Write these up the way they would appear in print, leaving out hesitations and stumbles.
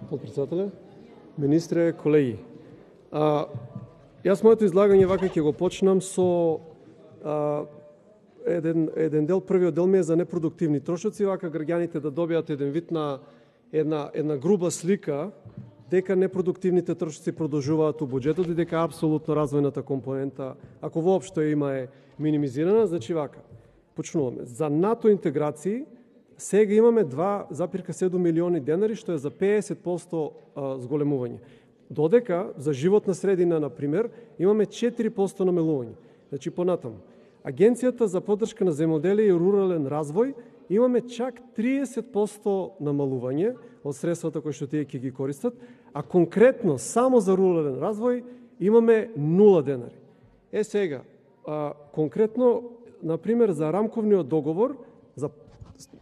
Подпредседателе, министре, колеги. Јас моето излагање вака ќе го почнам со еден дел. Првиот дел ми е за непродуктивни трошоци, вака граѓаните да добијат еден вид на една груба слика дека непродуктивните трошоци продолжуваат у буџетот и дека апсолутно развојната компонента, ако воопшто има, е минимизирана. Значи вака, почнуваме. За НАТО интеграции сега имаме 2,7 милиони денари, што е за 50% зголемување. Додека за животна средина, например, имаме 4% намалување. Значи понатаму. Агенцијата за поддршка на земјоделие и рурален развој имаме чак 30% намалување од средствата кои што тие ќе ги користат, а конкретно само за рурален развој имаме 0 денари. Сега, конкретно, например, за рамковниот договор, за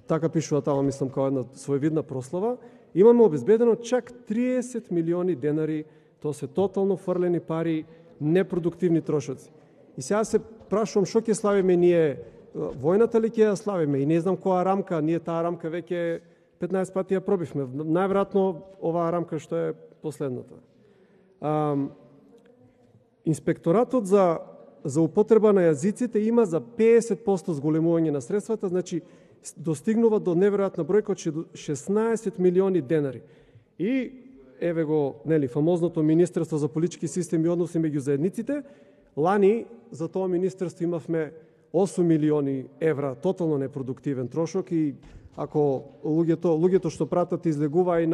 така пишува тама, мислам, као една своевидна прослава, имаме обезбедено чак 30 милиони денари, тоа се тотално фрлени пари, непродуктивни трошоци. И сега се прашувам што ќе славиме ние, војната ли ќе ја славиме, и не знам која рамка, ние таа рамка веќе 15 пати ја пробивме, најверојатно оваа рамка што е последната. Инспекторатот за употреба на јазиците има за 50% зголемување на средствата, значи достигнува до неверојатна бројка од 16 милиони денари. И еве го, нели, фамозното Министерство за политички системи и односи меѓу заедниците, лани за тоа министерство имавме 8 милиони евра тотално непродуктивен трошок и ако луѓето што пратат излегува и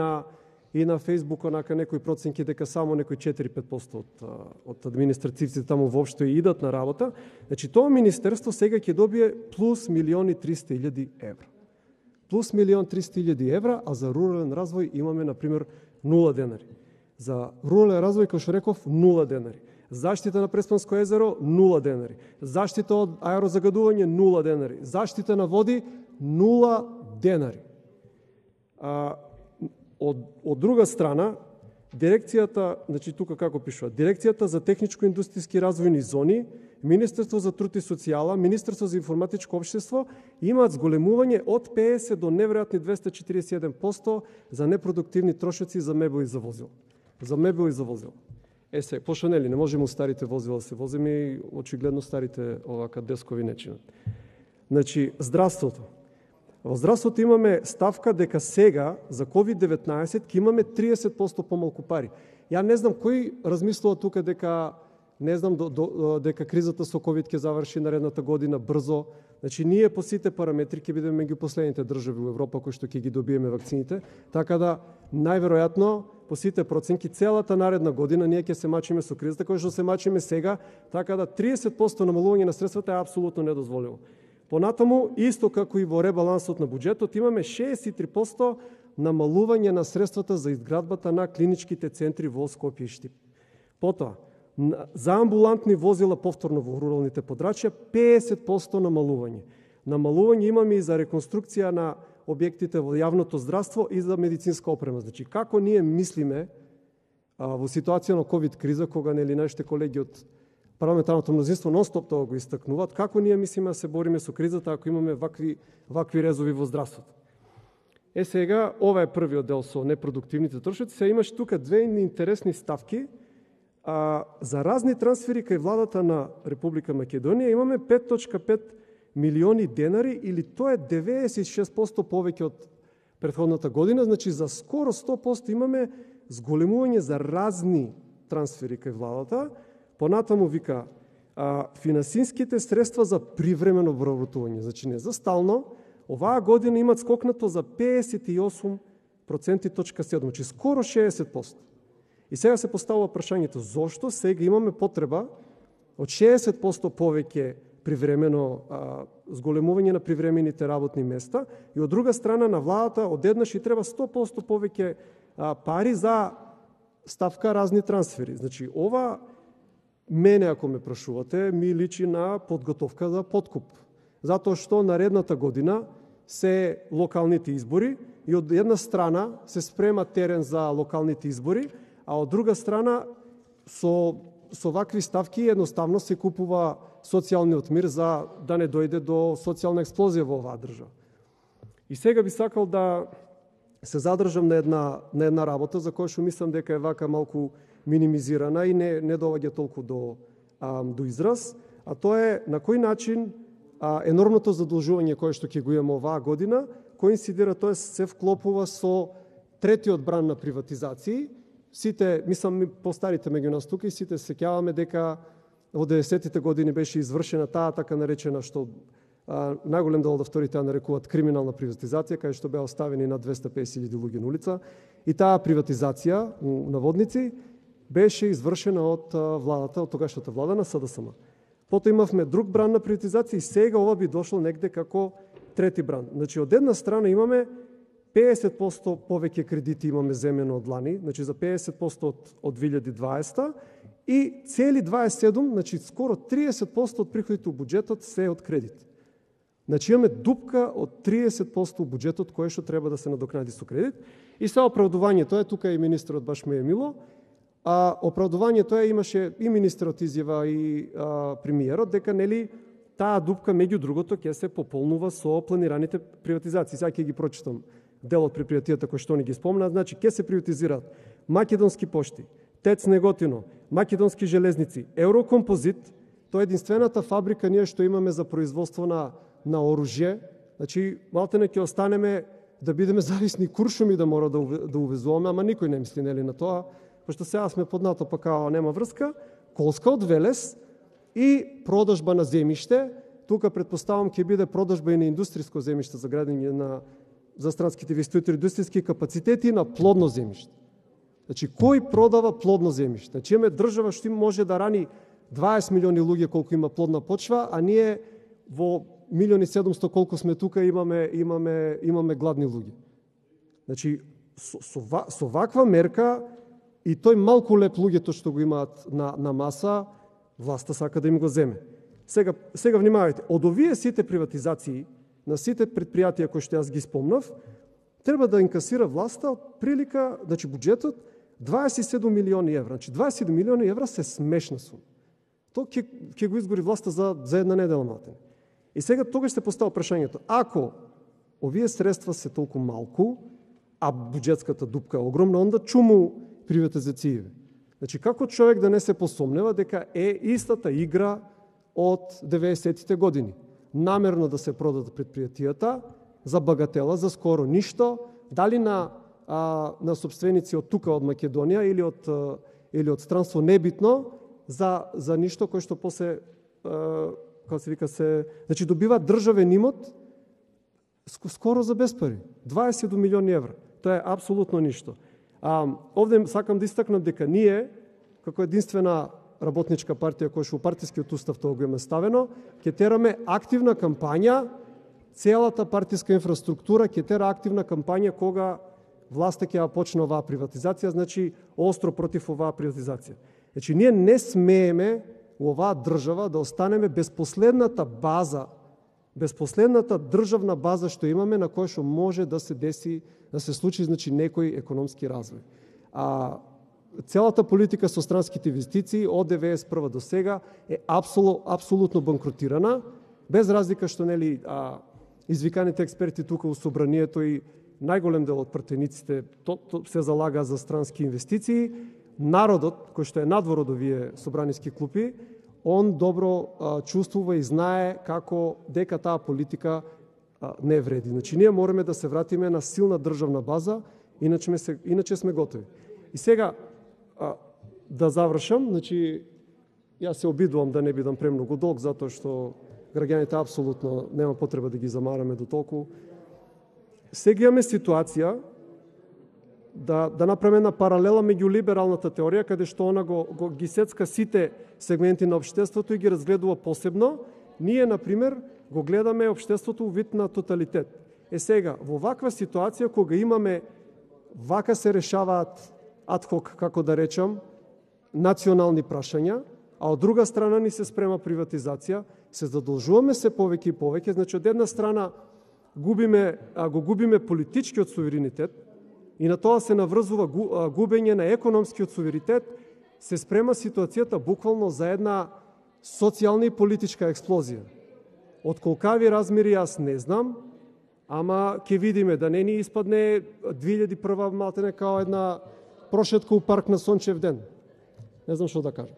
на Фейсбук онака некои проценки дека само некои 4-5% од административците таму воопшто идат на работа, значи тоа министерство сега ќе добие плюс 1.300.000 евра. Плюс 1.300.000 евра, а за рурален развој имаме, например, 0 денари. За рурален развој, како што реков, 0 денари. Заштита на Преспанско езеро, 0 денари. Заштита од аерозагадување, 0 денари. Заштита на води, 0 денари. Од друга страна, дирекцијата, значи тука како пишува, Дирекцијата за техничко-индустријски развојни зони, Министерство за труд и социјала, Министерство за информатичко општество имаат зголемување од 50 до неверојатни 241% за непродуктивни трошоци за мебел и за возило. За мебел и за возило. Се, пошто нели, не можеме у старите возила да се возиме и очигледно старите овака дескови не чинат. Значи, здравството. Во здравството имаме ставка дека сега за COVID-19 ќе имаме 30% помалку пари. Ја не знам кој размислува тука дека дека кризата со COVID ќе заврши наредната година брзо. Значи ние по сите параметри ќе бидеме меѓу последните држави во Европа кои што ќе ги добиеме вакцините, така да најверојатно по сите проценки целата наредна година ние ќе се мачиме со кризата која што се мачиме сега, така да 30% намалување на средствата е апсолутно недозволено. Понатаму, исто како и во ребалансот на буџетот, имаме 63% намалување на средствата за изградбата на клиничките центри во Скопје и Штип. Потоа, за амбулантни возила повторно во руралните подрачја 50% намалување. Намалување имаме и за реконструкција на објектите во јавното здравство и за медицинска опрема. Значи, како ние мислиме во ситуација на COVID криза, кога нели нашите колеги од парламентарното мнозинство нон-стоп тоа го истакнуваат, како ние мислиме да се бориме со кризата ако имаме вакви резови во здравството. Сега, ова е првиот дел со непродуктивните трошоци. Сега имаш тука две интересни ставки. За разни трансфери кај владата на Република Македонија имаме 5.5 милиони денари, или тоа е 96% повеќе од претходната година. Значи, за скоро 100% имаме зголемување за разни трансфери кај владата. Понатаму вика, финансиските средства за привремено вработување, значи не за стално, оваа година имат скокнато за 58,7%, значи скоро 60%. И сега се поставува прашањето, зошто сега имаме потреба од 60% повеќе привремено зголемување на привремените работни места и од друга страна на владата одеднаш и треба 100% повеќе пари за ставка разни трансфери. Значи ова мене, ако ме прашувате, ми личи на подготовка за подкуп. Затоа што наредната година се локалните избори и од една страна се спрема терен за локалните избори, а од друга страна со вакви ставки едноставно се купува социјалниот мир за да не дојде до социјална експлозија во оваа држава. И сега би сакал да се задржам на една работа за која што мислам дека е вака малку минимизирана и не доаѓа толку до израз, а тоа е на кој начин енормното задолжување кое што ќе го имаме оваа година, коинцидира, тоа се вклопува со третиот бран на приватизации. Сите, мислам, постарите меѓу нас тука и сите се сеќаваме дека во 90-тите години беше извршена таа така наречена, што најголем дел од авторите ја нарекуваат криминална приватизација, кај што беа оставени на 250.000 луѓе на улица. И таа приватизација, наводници, беше извршена од владата, од тогашната влада на СДСМ. Потоа имавме друг бран на приватизација и сега ова би дошло негде како трети бран. Значи, од една страна имаме 50% повеќе кредити имаме земено од лани, значи за 50% од 2020 и цели 27, значи скоро 30% од приходите од буџетот се од кредит. Значи имаме дупка од 30% од буџетот кој што треба да се надокнади со кредит. И се оправдувањето е, тука и министерот баш ме е мило, оправдувањето е, имаше и министерот изјава и премиерот, дека нели таа дупка меѓу другото ќе се пополнува со планираните приватизации. Сега ќе ги прочитам дел од предпријатијата кои што ни ги спомна. Значи ќе се приватизираат Македонски пошти, ТЕЦ Неготино, Македонски железници, Еврокомпозит, тоа е единствената фабрика ние што имаме за производство на оружје. Значи малтене ќе останеме да бидеме зависни куршуми да мора да увезуваме, ама никој не мисли нели на тоа, пошто сега сме под НАТО, па као нема врска. Колска од Велес и продажба на земјиште. Тука предпоставам ќе биде продажба и на индустријско земјиште за градење за странските инвеститори, индустријски капацитети на плодно земјиште. Значи, кој продава плодно земјиште? Значи, имаме држава што може да рани 20 милиони луѓе колку има плодна почва, а ние во 1.700.000 колку сме тука имаме гладни луѓе. Значи, со ваква мерка и тој малку леп луѓето што го имаат на маса, власта сака да им го земе. Сега внимавајте, од овие сите приватизации на сите предпријатија кои што јас ги спомнав, треба да инкасира власта од прилика, значи буџетот 27 милиони евра. Значи 27 милиони евра се смешна сума. Тоа ќе го изгори власта за една недела матене. И сега тогаш се поставува прашањето, ако овие средства се толку малку, а буџетската дупка е огромна, онда чуму приватизацији. Значи како човек да не се посомнева дека е истата игра од 90-тите години. Намерно да се продадат предпријатијата за багатела, за скоро ништо, дали на собственици од тука од Македонија или од странство, небитно, за ништо кој што после како се вика значи добива државен имот скоро за без пари. 27 милиони евра. Тоа е апсолутно ништо. Овде сакам да истакнам дека ние како единствена работничка партија која што у партискиот устав тоа го има ставено, ќе тераме активна кампања, целата партиска инфраструктура ќе тера активна кампања кога власта ќе почне оваа приватизација, значи остро против оваа приватизација. Значи ние не смееме у оваа држава да останеме без последната база, без последната државна база што имаме на која што може да се деси, да се случи значи некој економски развој. Целата политика со странските инвестиции од 91 до сега е апсолутно банкротирана, без разлика што нели извиканите експерти тука у собранието и најголем дел од пратениците се залага за странски инвестиции. Народот, кој што е надвор од овие собраниски клупи, он добро чувствува и знае како дека таа политика не вреди. Значи ние мораме да се вратиме на силна државна база, иначе сме готови. И сега да завршам, значи јас се обидувам да не бидам премногу долг, затоа што граѓаните апсолутно нема потреба да ги замараме до толку. Сега имаме ситуација да направиме една паралела меѓу либералната теорија, каде што она ги сецка сите сегменти на општеството и ги разгледува посебно. Ние, например, го гледаме општеството у вид на тоталитет. Сега, во ваква ситуација, кога имаме, вака се решаваат адхок, како да речам, национални прашања, а од друга страна ни се спрема приватизација, се задолжуваме се повеќе и повеќе, значи од една страна го губиме политичкиот суверенитет и на тоа се наврзува губење на економскиот суверенитет, се спрема ситуацијата буквално за една социјална и политичка експлозија. Од колкави размери јас не знам, ама ќе видиме да не ни испадне 2001 малтене као една прошетка у парк на сончев ден. Не знам што да кажам.